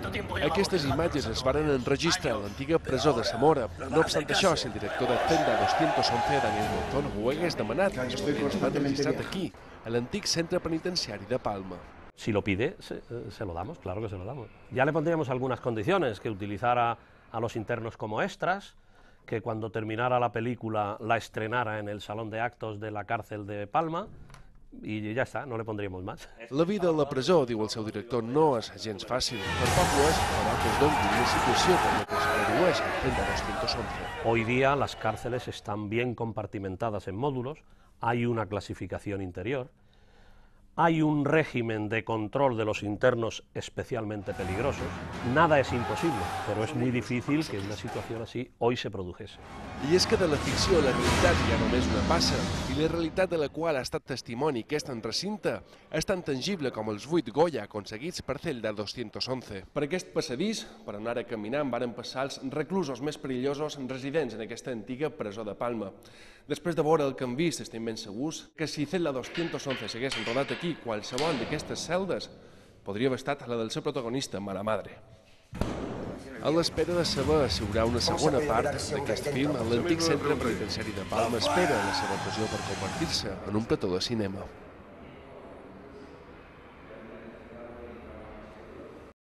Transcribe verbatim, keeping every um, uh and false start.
Aquestes imatges es varen enregistrar a l'antiga presó de Zamora. No obstant això, si el director de Celda dos once, Daniel Monzón, ho hagués demanat, es podria estar registrat aquí, a l'antic centre penitenciari de Palma. Si lo pide, se, se lo damos, claro que se lo damos. Ya le pondríamos algunas condiciones, que utilizara a los internos como extras, que cuando terminara la película la estrenara en el salón de actos de la cárcel de Palma, i ja està, no le pondríamos más. La vida a la presó, diu el seu director, no és gens fàcil. Per poc ho és, però que es doni una situació per la que es redueix el Celda dos once. Hoy día las cárceles están bien compartimentadas en módulos, hay una clasificación interior, hay un régimen de control de los internos especialmente peligrosos. Nada es imposible, pero es muy difícil que una situación así hoy se produjese. I és que de la ficció a la realitat hi ha només una passa, i la realitat de la qual ha estat testimoni aquest recinte és tan tangible com els vuit Goya aconseguits per Celda dos once. Per aquest passadís, per anar a caminar, varen passar els reclusos més perillosos residents en aquesta antiga presó de Palma. Després de veure el que han vist, estem ben segurs que si Celda dos once s'hagués rodat aquí, qualsevol d'aquestes celdes podria haver estat la del seu protagonista, mala madre. A l'espera de saber si hi haurà una segona part d'aquest film, l'antic centre penitenciari de Palma espera la seva ocasió per convertir-se en un plató de cinema.